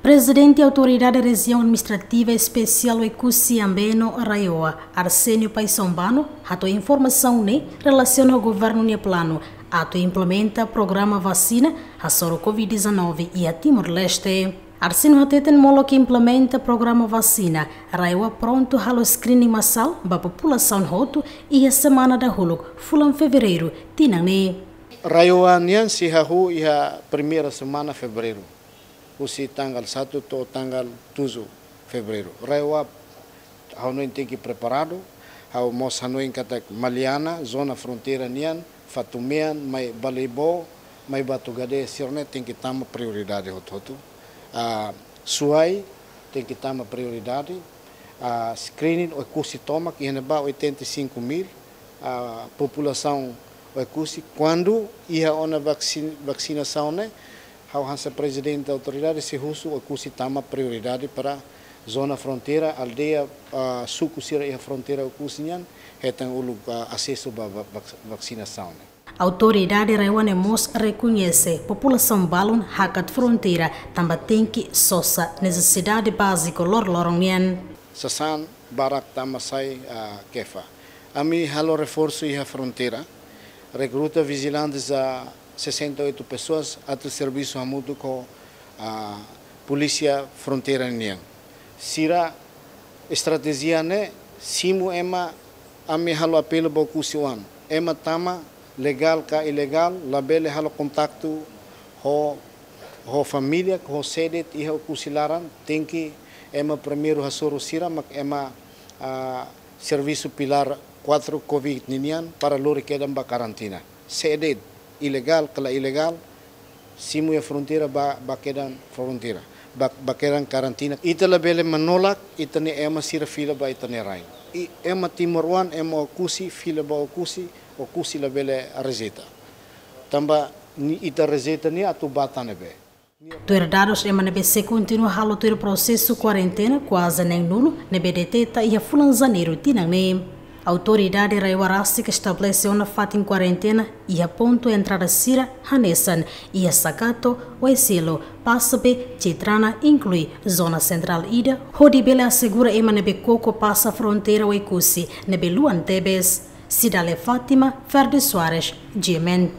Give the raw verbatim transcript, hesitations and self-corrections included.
Prezidente Autoridade Rejiaun Administrativa Espesiál Oekusi Ambeno, RAEOA, Arsénio Paixão Bano, hato'o informasaun ne'e relasiona ho governu nia planu atu implementa programa vasina hasoru Covid dezanove iha Timor-Leste. Arsénio hateten molok implementa programa vasina, RAEOA prontu halo screening masál ba populasaun hotu iha semana dahuluk fulan Fevereiru tinan ne'e. RAEOA nian sei hahú iha primeira semana Fevereiru, husi tanggal satu to'o tanggal tujuh Fevereiru. RAEOA ha'u hanoin tenke preparadu, ha'u mós hanoin katak Maliana, zona fronteira nian, Fatumean, mai Baleibo, mai Batugade, sira-ne'e tenke tama prioridade hotu-hotu. Ah, Suai tenke tama prioridade. Ah, screening Oekusi tomak iha ne'ebá oitenta e cinco mil, ah, populasaun Oekusi. Kuandu iha ona vaksin-, vasinasaun ne'e, ha'u hanesan prezidente autoridade sei husu Oekusi tama prioridade para zona fronteira, aldeia, ah, suku sira iha fronteira Oekusi nian, hetan uluk, ah, asesu ba va-, vak-, vasinasaun ne'e. Autoridade RAEOA ne'e mós rekoñese populasaun balun hakat fronteira tanba tenke sosa nesesidade báziku loroloron nian. Sasán barak tama sai, ah, Kefa. Ami halo reforsu iha fronteira, rekruta vijilantes a sessenta e oito pessoas atu servisu hamutuk ho, ah, polísia fronteira nian. Sira estratéjia ne'e simu ema, ami halo apelu ba Oekusi oan. Ema tama legál ka ilegál, labele halo kontaktu ho, ho família, ho sé de'it iha Oekusi laran, tenke ema primeiru hasoru sira mak ema, ah, servisu pilár quatro Covid ninian para lori kedan ba karantina. Sé de'it, ilegál ka la ilegál, simu iha fronteira ba, ba kedan fronteira, ba, ba kedan karantina. Ita labele menolak ita-nia ema sira fila ba ita-nia rain. I ema timoroan, ema Oekusi fila ba Oekusi, Oekusi labele rejeita. Tanba ita rejeita nia atu ba tan ne'ebé. Tuir dadus ema ne'ebé sei kontinua halo tuir prosesu kuarentena kuaze neen-nulu ne'ebé deteta iha fulan Janeiru tinan ne'e. Autoridade RAEOA rasik estabelese ona fatin kuarentena iha pontu entrada sira hanesan iha Sakato, Oesilo, Pasabe, Citrana, inklui zona sentrál ida, hodi bele asegura ema ne'ebé koko pasa fronteira Oekusi ne'ebé luan tebes. Cidália Fátima, Ferdi Soares, G M N.